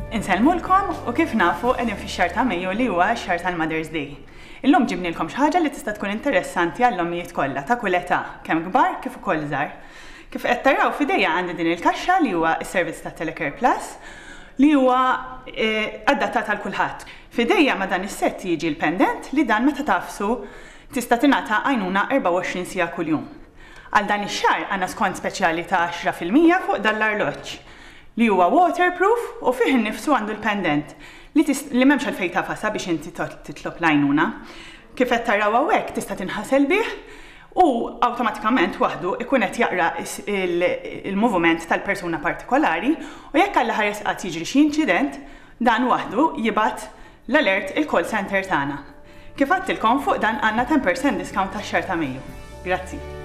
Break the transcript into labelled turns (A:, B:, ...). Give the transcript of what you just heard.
A: Insellmulkom u kif nafu qegħdin fix-xahar ta' Mejju li huwa x-xahar tal-Mother's Day. Illum ġibnilkom xi ħaġa li tista' tkun interessanti għall-ommijiet kollha ta' kull età, kemm kbar kif ukoll żgħar. Kif qed taraw f'idejja għandi din il-kaxxa li huwa s-servizz ta' Telecare Plus li huwa adattat għal kulħadd. F'idejja ma' dan is-sett jiġi l-pendant li dan meta tagħfsu tista' tingħata għajnuna 24 siegħa kuljum. Għal dan ix-xahar għandna skont speċjali ta' 10% fuq dan l-arloġġ li huwa waterproof u fih innifsu għandu l-pendant li li m'hemmx għalfejn tagħfasha biex inti titlob l-għajnuna. Kif qed taraw hawnhekk tista' tinħasel bih u awtomatikament waħdu ikun qed jaqra il-moviment tal-persuna partikolari u jekk Alla ħares qatt jiġri xi inċident, dan waħdu jibgħat l-alert il-call centre tagħna. Kif għadtilkom fuq dan għandna 10% discount għax-xahar ta' Mejju. Grazzi.